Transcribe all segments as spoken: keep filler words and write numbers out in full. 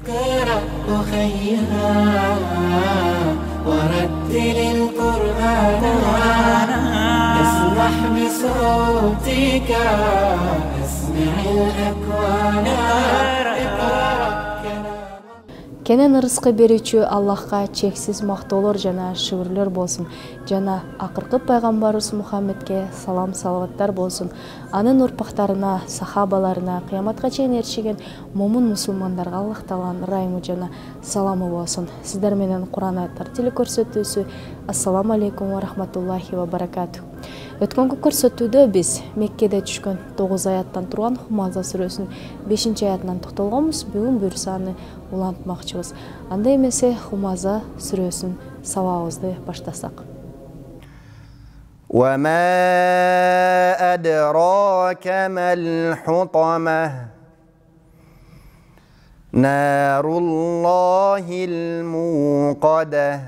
اقرأ أخيها ورتل القرآن اسمح بصوتك اسمع الأكوان Кенен ырыскы берүүчү Аллахка чексиз мактоолор жана шүгүрлөр болсун. Жана акыркы пайгамбарыбыз Мухаммедке салам салаваттар болсун. Анын урпактарына, сахабаларына, кыяматка чейин эришкен момун мусулмандарга Аллах Тааланын ырайымы жана саламы болсун. Сиздер менен Кур'ан аяттар телекөрсөтүүсү. Ассаламу алейкум ва рахматуллахи ва баракату. Өткөнгү көрсөтүүдө биз Меккеде түшкөн тогуз аяттан турган Хумаза сүрөсүнүн бешинчи аятынан токтолгонбуз. Бүгүн буюрса аны улантмакчыбыз. Анда эмесе Хумаза сүрөсүн сабагыбызды баштасак. وما أدراك ما الحطمة نار الله الموقدة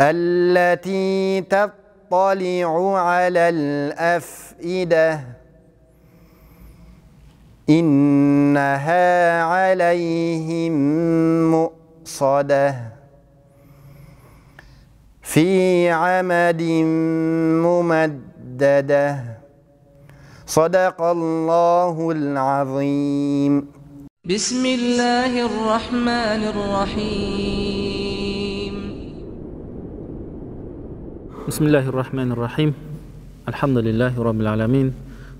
التي تطلع على الأفئدة إنها عليهم مؤصدة في عمد ممددة صدق الله العظيم. بسم الله الرحمن الرحيم. بسم الله الرحمن الرحيم. الحمد لله رب العالمين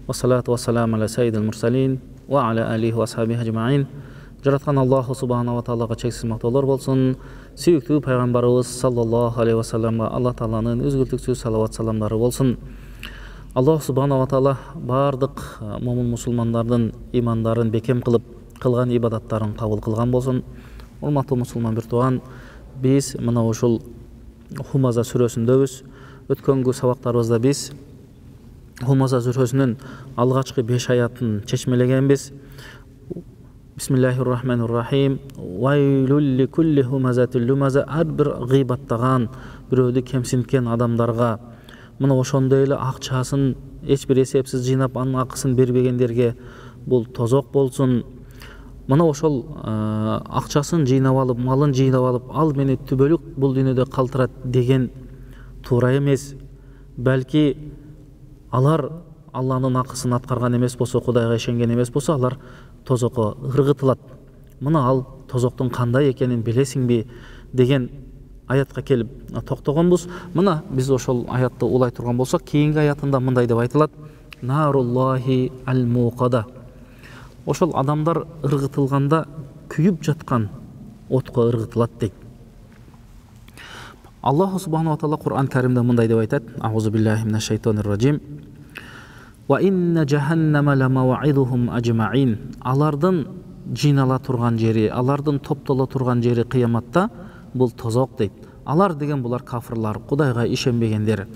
والصلاة والسلام على سيد المرسلين وعلى آله وأصحابه أجمعين. Жараткан Аллаху субханаху ва таалага чексиз мактоолор болсун. Сүйүктүү пайгамбарыбыз саллаллаху алейхи ва салламга Аллах Тааланын үзгүлтүксүз салават саламдары болсун. Аллах субханаху ва таала бардык момун мусулмандардын имандарын бекем кылып, кылган ибадаттарын кабыл кылган болсун. Урматтуу мусулман бир тууган, биз мына ушул Хумаза сүрөсүндөбүз. Өткөнгү сабактарыбызда биз Хумаза сүрөсүнүн алгачкы беш аятын чечмелегенбиз. Бисмиллахир-рахманир-рахим. Вайлул ликулли хумазатил лумаза. Ар бир гыйбаттаган, бирөөдү кемсинткен адамдарга, мына ошондой эле акчасын эч бир эсепсиз жыйнап, анын акысын бербегендерге бул тозок болсун. Мына ошол акчасын жыйнап алып, малын жыйнап алып, ал мени түбөлүк бул дүйнөдө калтырат деген туура эмес. Балки алар Алланын акысын аткарган эмес болсо, Кудайга ишенген эмес болсо, алар тозокко ыргытылат. Мына ал тозоктун кандай экенин билесиңби деген аятка келип токтогонбуз. Мына биз ошол аятты улай турган болсок, кийинки аятында мындай деп айтылат: Наруллахи ал-муqada. Ошол адамдар ыргытылганда күйүп жаткан отко ыргытылат дейт. Аллаху субханаху ва таала Кур'ан Каримде мындай деп айтат: Аузу биллахи минаш шайтанир ражим. Ва инна джаханнама ламав'идухум ажмаин. Алардын жыйнала турган жери, алардын топтоло турган жери кыяматта бул тозок дейт. Алар деген булар кафырлар, Кудайга ишенбегендер,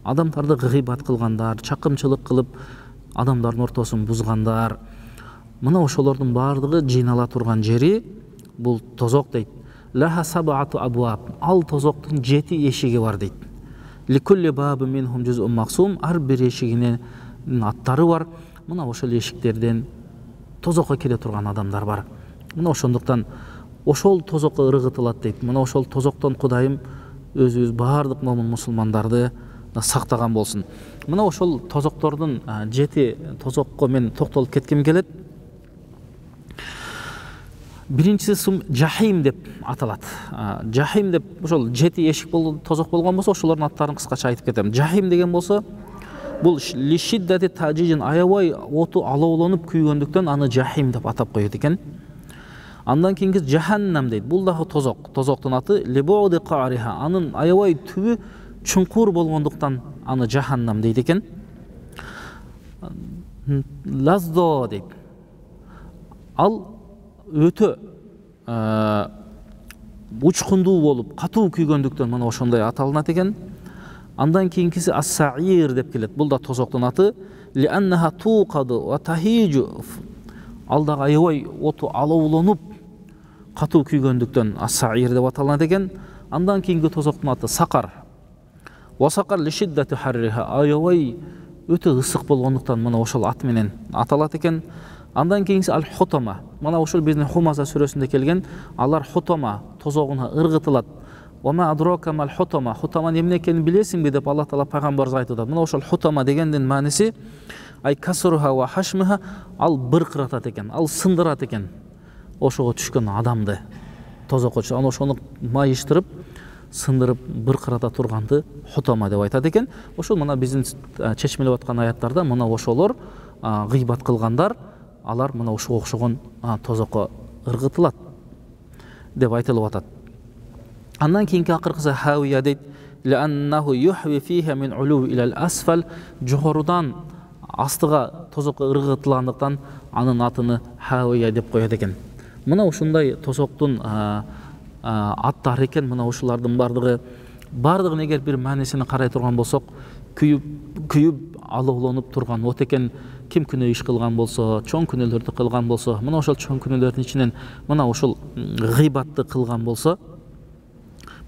адамдарды гыйбат кылгандар, чакымчылык кылып, адамдардын ортосун бузгандар. Мына ошолордун бардыгы жыйнала турган жери бул тозок дейт. Лаха саб'ату абваб. Ал тозоктун жети эшиги бар дейт. Ликулли бабин минхум жуз'ун мақсум. Ар бир эшигинин аттары бар. Мына ошол эшиктерден тозокко кире турган адамдар бар. Мына ошондуктан ошол тозокко ыргытылат дейт. Мына ошол тозоктон Кудайым өзүбүз бардык момун мусулмандарды сактаган болсун. Мына ошол тозоктордун жети тозокко мен токтолуп кетким келет. Биринчиси жахим деп аталат. Жахим деп ошол жети эшик болду, тозок болгон болсо, ошолордун аттарын кыскача айтып кетем. Жахим деген болсо, бул лишиддати таджижин, аябай оту алоолонуп күйгөндүктөн аны жахим деп атап коет экен. Андан кийинки жаханнам дейт. Бул дагы тозок. Тозоктун аты либуди qaриха. Анын аябай түбү чуңкур болгондуктан аны жаханнам дейт экен. Лаздо дейт. Ал өтө учкундуу болуп, катуу күйгөндүктөн мына ошондой аталынат экен. Андан кийинкиси ас-саир деп келет. Бул да тозоктун аты. Ли аннаха туqadu ва тахижу. Ал да аябай оту алоолонуп, катуу күйгөндүктөн ас-саир деп аталынат экен. Андан кийинки тозоктун аты сакар. Ва сакар ли шиддати харриха. Аябай өтө ысык болгондуктан мына ошол ат менен аталат экен. Андан кийинкиси ал хутама. Мына ушул биздин Хумаза сүрөсүндө келген, алар хутама тозогуна ыргытылат. Ва ма адрока мал хутама. Хутама эмне экенин билесиңби деп Аллах таала пайгамбарыбызга айтып атат. Мына ошол хутама дегендин мааниси ай касруха ва хашмиха, ал быркыратат экен, ал сындырат экен ошого түшкөн адамды. Тозокко аны ошону майыштырып, сындырып, быркырата турганды хутама деп айтат экен. Ошол мына биздин чечмелеп аткан аяттарда мына ошолор гыйбат кылгандар, алар мына ошого окшогон тозокко ыргытылат деп айтылып атат. Андан кийинки акыркысы хавия дейт. Ланнаху юхви фиха мин улу ила асфал, жогорудан астыга тозокко ыргытылгандыктан анын атыны хавия деп коет экен. Мына ушундай тозоктун аттары экен. Мына ушулардын бардыгы бардыгын эгер бир маанисине карай турган болсок, күйүп күйүп алоолонуп турган от экен. Ким күнөө иш кылган болсо, чоң күнөөлөрдү кылган болсо, мына ошол чоң күнөөлөрдүн ичинен мына ушул гыйбатты кылган болсо,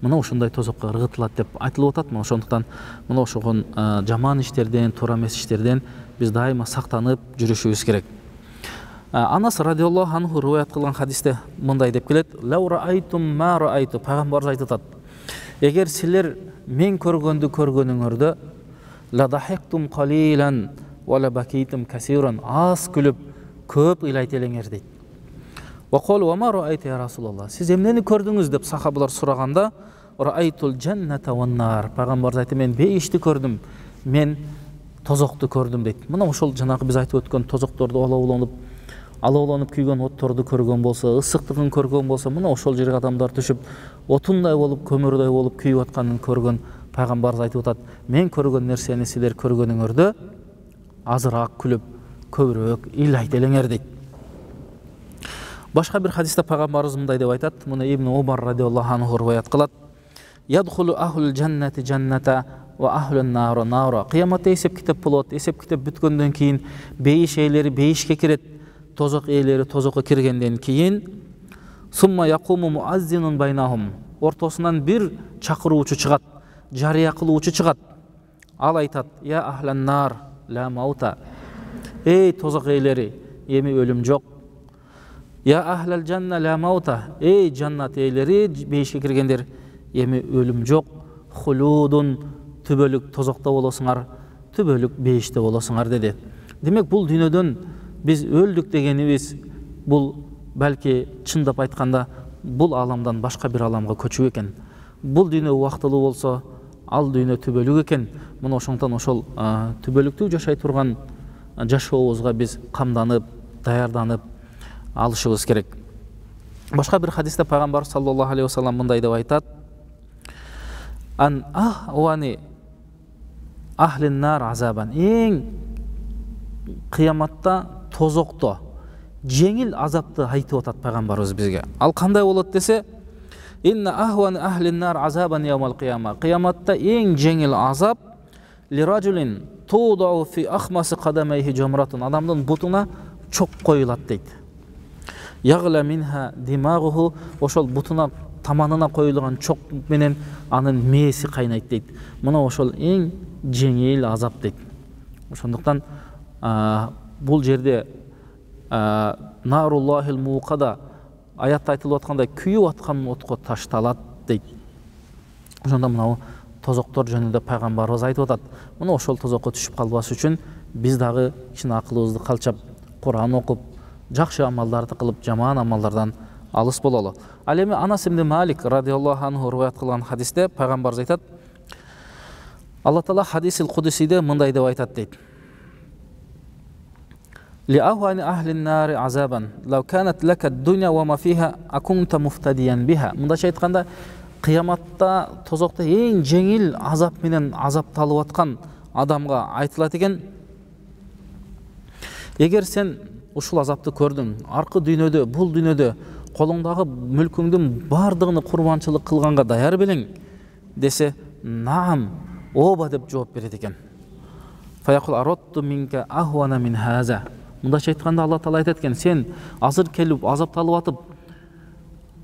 мына ушундай тозокко ыргытылат деп айтылып атат. Мына ошондуктан мына ошогон жаман иштерден, туура эмес иштерден биз дайыма сактанып жүрүшүбүз керек. Анас радиаллаху анху риваят кылган хадисте мындай деп келет: "Лау раайтум ма раайту", пайгамбарыбыз айтып атат. Эгер силер мен көргөндү көргөнүңөрдө, ла дахиктум қалилан ва ла бакитум касиран, аз күлүп, көп ыйлайт элеңер дейт. Ва кол ва ма раайт я Расулаллах, сиз эмнени көрдүңүз деп сахабалар сураганда, раайтул джанната ван нар, пайгамбарыбыз айтты, мен бейишти көрдүм, мен тозокту көрдүм дейт. Мына ошол жанагы биз айтып өткөн тозокторду алоолонуп алоолонуп күйгөн отторду көргөн болсо, ысыктыгын көргөн болсо, мына ошол жерге адамдар түшүп, отундай болуп, көмүрдөй болуп күйүп атканын көргөн пайгамбарыбыз айтып атат. Мен көргөн нерсени силер көргөнүңөрдө азыраак күлүп, көбүрөөк ыйлайт элеңер дейт. Башка бир хадисте пайгамбарыбыз мындай деп айтат. Муну Ибн Умар радиаллаху анху риваят кылат. Ядхулу ахлул джаннати джанната ва ахлун нара нара. Кыяматта эсеп китеп болот. Эсеп китеп бүткөндөн кийин бейиш ээлери бейишке кирет, тозок ээлери тозокко киргенден кийин сумма якуму муаззинун байнахум. Ортосунан бир чакыруучу чыгат, жарыя кылуучу чыгат. Ал айтат: "Я ахлан нар ла маута". Эй тозок ээлери, эми өлүм жок. Я ахлал джанна ла маута. Эй жаннат ээлери, бейишке киргендер, эми өлүм жок. Хулудун, түбөлүк тозокто болосуңар, түбөлүк бейиште болосуңар деди. Демек бул дүйнөдөн биз өлдүк дегенибиз, бул балки чындап айтканда бул аламдан башка бир аламга көчүү экен. Бул дүйнө убактылуу болсо, ал дүйнө түбөлүк экен. Мына ошондон ошол түбөлүктүү жашай турган жашообузга биз камданып, даярданып алышыбыз керек. Башка бир хадисте пайгамбар саллаллаху алейхи вассалам мындай деп айтат: "Ан ахвани ахлин нар азабан". Эң кыяматта тозокто жеңил азапты айтып атат пайгамбарыбыз бизге. Ал кандай болот десе: "Инна ахвани ахлин нар азабан яумал кыяма". Кыяматта эң жеңил азап лираджулин тудау фи ахмаси кадамайхи жамратун. Адамдын бутуна чок коюлат дейт. Ягла минха димагуху, ошол бутуна таманына коюлган чок менен анын мээси кайнайт дейт. Мына ошол эң жеңил азап дейт. Ошондуктан бул жерде наруллахил муқада аятта айтылып аткандай күйүп аткан отко ташталат дейт. Ошондо мына тозоктор жөнүндө пайгамбарыбыз айтып атат. Мына ошол тозокко түшүп калбас үчүн биз дагы кичине акылыбызды калчап, Кур'ан окуп, жакшы амалдарды кылып, жаман амалдардан алыс бололу. Ал эми Анас ибн Малик радиаллаху анху риваят кылган хадисте пайгамбарыбыз айтат. Алла таала хадисил кудусиде мындай деп айтат дейт: "Ли ахвани ахлин нари азабан, лау канат лака дуня ва ма фиха акунта муфтадиян биха". Мындайча айтканда, кыяматта тозокто эң жеңил азап менен азапталып аткан адамга айтылат экен: "Эгер сен ушул азапты көрдүң, аркы дүйнөдө, бул дүйнөдө колуңдагы мүлкүңдүн бардыгын курбанчылык кылганга даяр белең?" десе, "Наам, ооба" деп жооп берет экен. "Фаяқул аратту минка ахвана мин хаза". Мындайча айтканда Алла таала айтат экен: "Сен азыр келип азапталып атып,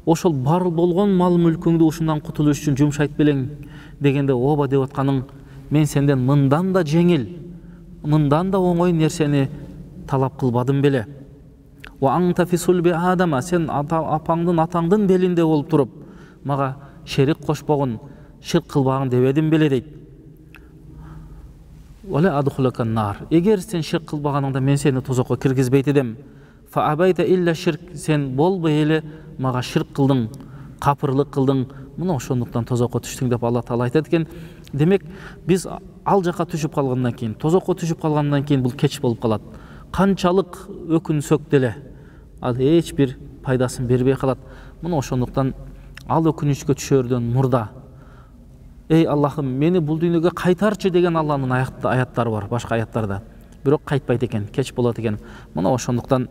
ошол бар болгон мал мүлкүңдү ушундан кутулуш үчүн жумшайт белең?" дегенде, "Ооба" деп атканың, мен сенден мындан да жеңил, мындан да оңой нерсени талап кылбадым беле Ва анта фи сулби Адама, сен апаңдын атаңдын белинде болуп туруп, мага шерик кошпогун, ширк кылбагын дебедим беле дейт. Вала адхулакан нар. Эгер сен ширк кылбаганыңда мен сени тозокко киргизбейт эдем. Фа абайта илля ширк, сен болбой эле мага ширк кылдың, капырлык кылдың. Мына ошондуктан тозокко түштүң деп Алла Таала айтат экен. Демек, биз ал жака түшүп калгандан кийин, тозокко түшүп калгандан кийин бул кеч болуп калат. Канчалык өкүнсөк деле ал эч бир пайдасын бербей калат. Мына ошондуктан ал өкүнүчкө түшөрдөн мурда эй Аллахым, мени бул дүйнөгө кайтарчы деген Алланын аяттары бар, башка аяттарда. Бирок кайтпайт экен, кеч болот экен. Мына ошондуктан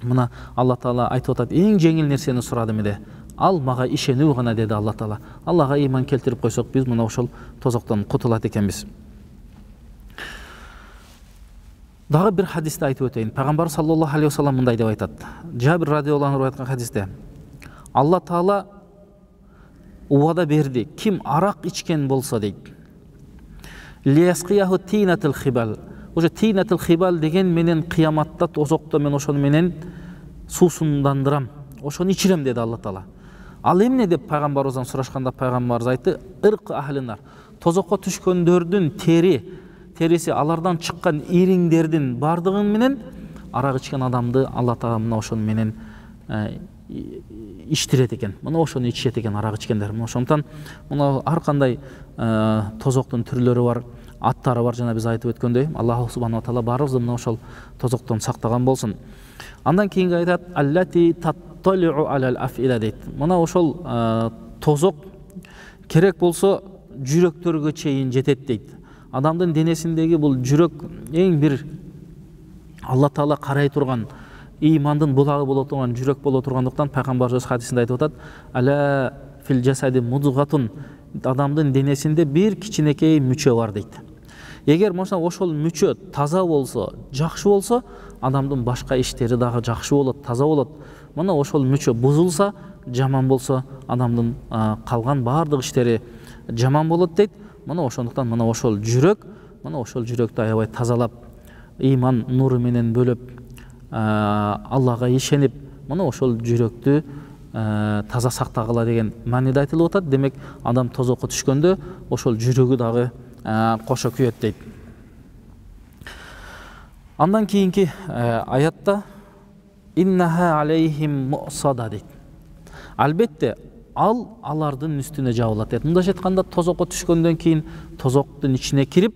мына Алла Таала айтып атат, эң жеңил нерсени сурадым эде. Ал мага ишенүү гана деди Алла Таала. Аллага ыйман келтирип койсок, биз мына ошол тозоктон кутулат экенбиз. Дагы бир хадисте айтып өтөйүн. Пайгамбар саллаллаху алейхи вассалам мындай деп айтат. Жабир радиаллаху анху айткан хадисте Алла Таала убада берди. Ким арак ичкен болсо дейт. Лиясқияху тинатил хибал. Уже тинатил хибал деген менен кыяматта тозокто мен ошону менен суусундандырам. Ошону ичирем деди Алла Таала. Ал эмне деп пайгамбарыбыздан сурашканда пайгамбарыбыз айтты, ырк ахлинар. Тозокко түшкөндөрдүн тери, териси алардан чыккан ириңдердин бардыгын менен арак ичкен адамды Алла Таала мына ошону менен иштирет экен. Мына ошону ичет экен арак ичкендер. Ошондуктан мына ар кандай тозоктун түрлөрү бар, аттары бар, жана биз айтып өткөндөй, Аллах субханаху ва таала баарыбызды мына ошол тозоктон сактаган болсун. Андан кийинки айтат, аллати татталиу алал афила дейт. Мына ошол тозок керек болсо жүрөктөргө чейин жетет дейт. Адамдын денесиндеги бул жүрөк эң бир Алла Таала карай турган, ыймандын булагы боло турган жүрөк боло тургандыктан пайгамбарыбыз хадисинде айтып атат, ала фил жасади мудгатун, адамдын денесинде бир кичинекей мүчө бар дейт. Эгер мошна ошол мүчө таза болсо, жакшы болсо, адамдын башка иштери дагы жакшы болот, таза болот. Мына ошол мүчө бузулса, жаман болсо, адамдын калган баардык иштери жаман болот дейт. Мына ошондуктан мына ошол жүрөк, мына ошол жүрөктү аябай тазалап, ыйман нуру менен бөлөп, Аллага ишенип, мына ошол жүрөктү таза сактагыла деген мааниде айтылып атат. Демек, адам тозокко түшкөндө ошол жүрөгү дагы кошо күйөт дейт. Андан кийинки аятта иннаха алейхим мусада дейт. Албетте ал алардын үстүнө жабылат дейт. Мындайча айтканда, тозокко түшкөндөн кийин тозоктун ичине кирип,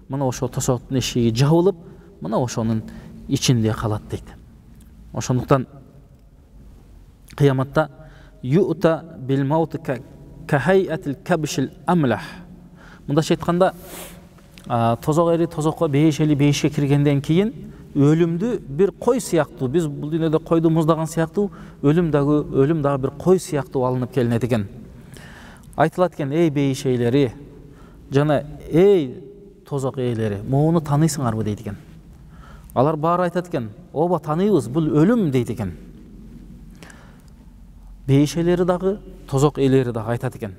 мына ошол тозоктун эшиги жабылып, мына ошонун ичинде калат дейт. Ошондуктан кыяматта юта бил маут ка хайатил кабшил амлах. Мындайча айтканда, тозок эри тозокко бейишели бейишке киргенден кийин өлүмдү бир кой сыяктуу, биз бул дүйнөдө койду муздаган сыяктуу, өлүм дагы өлүм дагы бир кой сыяктуу алынып келинет экен. Айтылат экен, эй бейишейлери жана эй тозок ээлери, моуну тааныйсыңарбы дейт экен. Алар баары айтат экен, ооба тааныйбыз, бул өлүм дейт экен. Бейишелери дагы, тозок ээлери дагы айтат экен.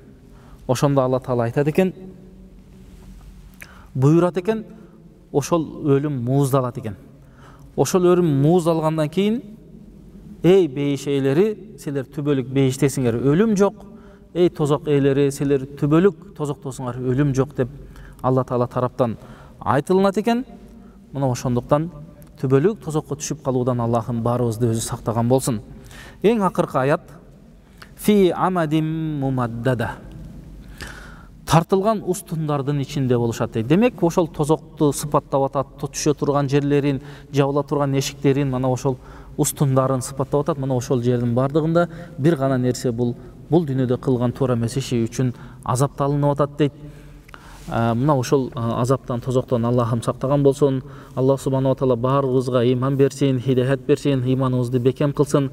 Ошондо Алла Таала айтат экен, буйрат экен, ошол өлүм мууздалат экен. Ошол өлүм мууздалгандан кийин, эй бейишейлери, силер түбөлүк бейиштесиңер, өлүм жок. Эй тозок ээлери, силер түбөлүк тозоктосуңар, өлүм жок деп Алла Таала тараптан айтылынат экен. Мына ошондуктан түбөлүк тозокко түшүп калуудан Аллахым баарыбызды өзү сактаган болсун. Эң акыркы аят фи амадим мумаддада. Тартылган устундардын ичинде болушат дейт. Демек, ошол тозокту сыпаттап атат, түшө турган жерлерин, жабыла турган эшиктерин, мына ошол устундарын сыпаттап атат. Мына ошол жердин бардыгында бир гана нерсе, бул бул дүйнөдө кылган туура эмес иши үчүн азапталынып атат дейт. Мына ошол азаптан, тозоктон Аллахым сактаган болсун. Аллах субханаху ва таала баарыбызга ыйман берсин, хидаят берсин, ыйманыбызды бекем кылсын.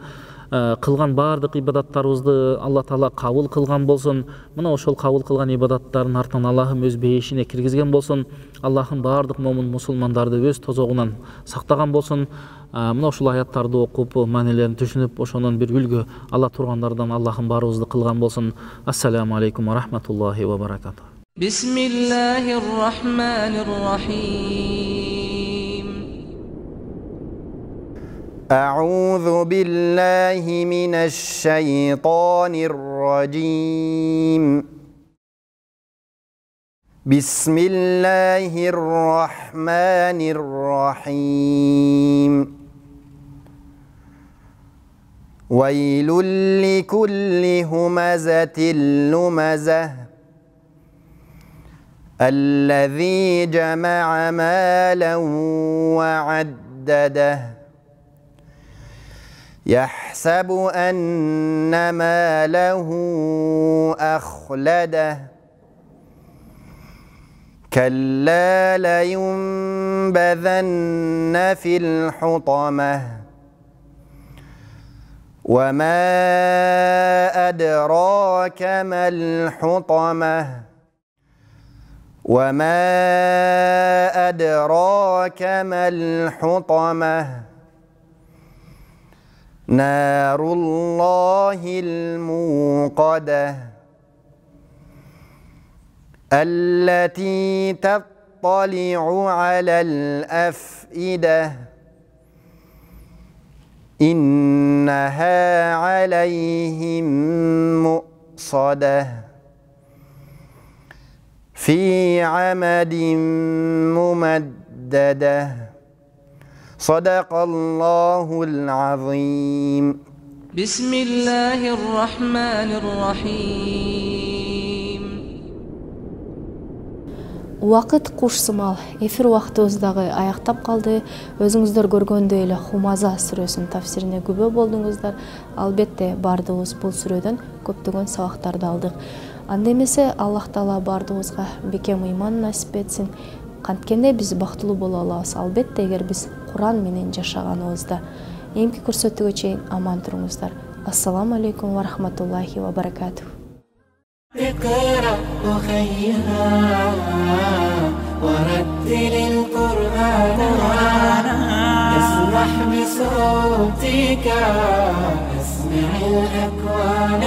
Кылган баардык ибадаттарыбызды Алла Таала кабыл кылган болсун. Мына ошол кабыл кылган ибадаттардын артынан Аллахым өз бейишине киргизген болсун. Аллахым баардык момун мусулмандарды өз тозогунан сактаган болсун. Мына ушул аяттарды окуп, маанилерин түшүнүп, ошонун бир үлгү ала тургандардан Аллахым баарыбызды кылган болсун. Ассаламу алейкум ва рахматуллахи ва баракатух. Бисмиллахир рахманир рахим. أعوذ بالله من الشيطان الرجيم بسم الله الرحمن الرحيم ويل لكل همزة لمزة الذي جمع مالا وعدده يحسب أن ماله أخلده كلا لينبذن في الحطمة وما أدراك ما الحطمة وما أدراك ما الحطمة نار الله الموقدة التي تطلع على الأفئدة إنها عليهم مؤصدة في عمد ممددة صدق الله العظيم بسم الله الرحمن الرحيم Убакыт куш сымал эфир убактыбыз дагы аяктап калды. Өзүңүздөр көргөндөй эле Хумаза сүрөсүнүн тафсирине күбө болдуңуздар. Албетте бардыгыбыз бул сүрөдөн көптөгөн сабактарды алдык. Анда эмесе Аллах Таала бардыгыбызга бекем ыйман насип этсин. Канткенде биз бактылуу боло алабыз. Албетте эгер биз Куран менен жашаганыбызда. Эмки көрсөтүүгө чейин аман туруңуздар. Ассаламу алейкум ва рахматуллахи ва баракатух. اقرأ أخيها ورتل القرآن اسمح بصوتك اسمع الأكوان.